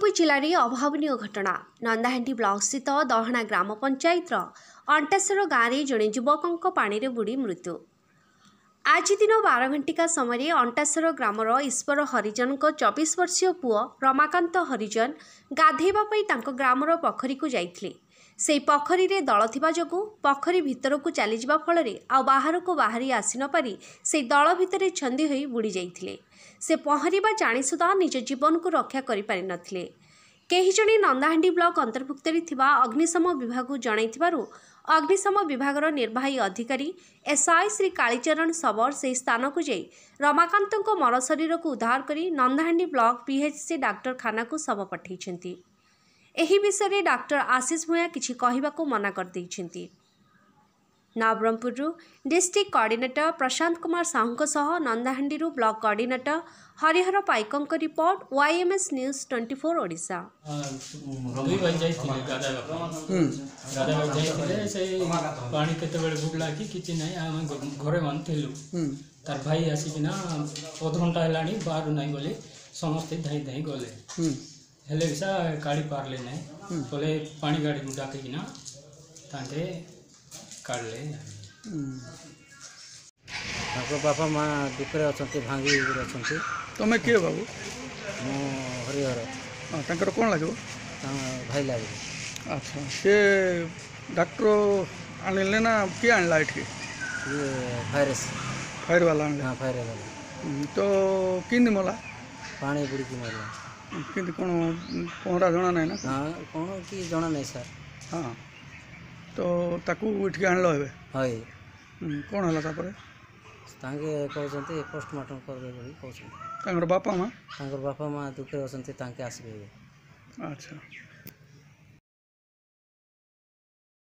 ନବରଙ୍ଗପୁର ଜିଲ୍ଲାରେ ଅଭାବନୀୟ ଘଟଣା। ନନ୍ଦାହାଣ୍ଡି ବ୍ଲକସ୍ଥିତ ଦହଣା ଗ୍ରାମ ପଞ୍ଚାୟତର ଅଣ୍ଟାସର ଗାଁରେ ଜଣେ ଯୁବକଙ୍କ ପାଣିରେ ବୁଡ଼ି ମୃତ୍ୟୁ। ଆଜି ଦିନ 12 ଘଣ୍ଟିକା ସମୟରେ ଅଣ୍ଟାସର ଗ୍ରାମର ଈଶ୍ୱର ହରିଜନଙ୍କ 24 ବର୍ଷୀୟ ପୁଅ ରମାକାନ୍ତ ହରିଜନ ଗାଧୋଇବା ପାଇଁ ତାଙ୍କ ଗ୍ରାମର ପୋଖରୀକୁ ଯାଇଥିଲେ। ସେହି ପୋଖରୀରେ ଦଳ ଥିବା ଯୋଗୁଁ ପୋଖରୀ ଭିତରକୁ ଚାଲିଯିବା ଫଳରେ ଆଉ ବାହାରକୁ ବାହାରି ଆସିନପାରି ସେହି ଦଳ ଭିତରେ ଛନ୍ଦି ହୋଇ ବୁଡ଼ି ଯାଇଥିଲେ। ସେ ପହଁରିବା ଜାଣି ସୁଦ୍ଧା ନିଜ ଜୀବନକୁ ରକ୍ଷା କରିପାରିନଥିଲେ। କେହି ଜଣେ ନନ୍ଦାହାଣ୍ଡି ବ୍ଲକ ଅନ୍ତର୍ଭୁକ୍ତରେ ଥିବା ଅଗ୍ନିଶମ ବିଭାଗକୁ ଜଣାଇଥିବାରୁ ଅଗ୍ନିଶମ ବିଭାଗର ନିର୍ବାହୀ ଅଧିକାରୀ ଏସ୍ଆଇ ଶ୍ରୀ କାଳୀଚରଣ ଶବର ସେହି ସ୍ଥାନକୁ ଯାଇ ରମାକାନ୍ତଙ୍କ ମରଶରୀରକୁ ଉଦ୍ଧାର କରି ନନ୍ଦାହାଣ୍ଡି ବ୍ଲକ ପିଏଚ୍ସି ଡାକ୍ତରଖାନାକୁ ଶବ ପଠାଇଛନ୍ତି। ଏହି ବିଷୟରେ ଡାକ୍ତର ଆଶିଷ ଭୂୟାଁ କିଛି କହିବାକୁ ମନା କରିଦେଇଛନ୍ତି। ନବରଙ୍ଗପୁରରୁ ଡିଷ୍ଟ୍ରିକ୍ଟ କୋଅର୍ଡିନେଟର ପ୍ରଶାନ୍ତ କୁମାର ସାହୁଙ୍କ ସହ ନନ୍ଦାହାଣ୍ଡିରୁ ବ୍ଲକ କୋଅର୍ଡିନେଟର ହରିହର ପାଇକଙ୍କ ରିପୋର୍ଟ, ୱାଇଏମ୍ଏସ୍ ନ୍ୟୁଜ୍ 24 ଓଡ଼ିଶା। ଦୁଇ ଭାଇ ଯାଇଥିଲେ ଗାଧୋଇବା ପାଇଁ। ଗାଧୋଇବାକୁ ଯାଇଥିଲେ, ସେଇ ପାଣି କେତେବେଳେ ବୁଡ଼ିଲା କି କିଛି ନାହିଁ। ଆମେ ଘରେ ମାନେ ଥିଲୁ। ତାର ଭାଇ ଆସିକିନା ଅଧଘଣ୍ଟା ହେଲାଣି ବାହାରୁ ନାହିଁ ବୋଲି ସମସ୍ତେ ଧାଇଁ ଧାଇଁ ଗଲେ, ହେଲେ ବି କାଢ଼ି ପାରିଲେ ନାହିଁ। ବୋଲେ ପାଣି ଗାଡ଼ିକୁ ଡାକିକିନା ତାଙ୍କେ କାଢ଼ିଲେ। ତାଙ୍କ ବାପା ମା ଦୁଃଖରେ ଅଛନ୍ତି, ଭାଙ୍ଗି ହେଇକରି ଅଛନ୍ତି। ତମେ କିଏ ବାବୁ? ମୁଁ ହରିହର। ହଁ, ତାଙ୍କର କ'ଣ ଲାଗିବ? ତାଙ୍କ ଭାଇ ଲାଗିବ। ଆଚ୍ଛା, ସେ ଡାକ୍ତର ଆଣିଲେ ନା କିଏ ଆଣିଲା ଏଠି? ଇଏ ଫାୟାର ଫାୟାର ବାଲା ଆଣିଲେ? ହଁ, ଫାୟାର ବାଲା। ତ କେମିତି ମଲା? ପାଣି ବୁଡ଼ିକି ମରିଲା। କେମିତି କ'ଣ, ପହଁରା ଜଣା ନାହିଁ ନା? ହଁ, କ'ଣ କି ଜଣା ନାହିଁ ସାର୍। ହଁ, ତ ତାକୁ ଏଠିକି ଆଣିଲ ଏବେ? ହଇ। କ'ଣ ହେଲା ତାପରେ? ତାଙ୍କେ କହୁଛନ୍ତି ପୋଷ୍ଟମର୍ଟମ୍ କରିବେ ବୋଲି କହୁଛନ୍ତି। ତାଙ୍କର ବାପା ମା? ତାଙ୍କର ବାପା ମା ଦୁଃଖରେ ଅଛନ୍ତି, ତାଙ୍କେ ଆସିବେ ଏବେ। ଆଚ୍ଛା,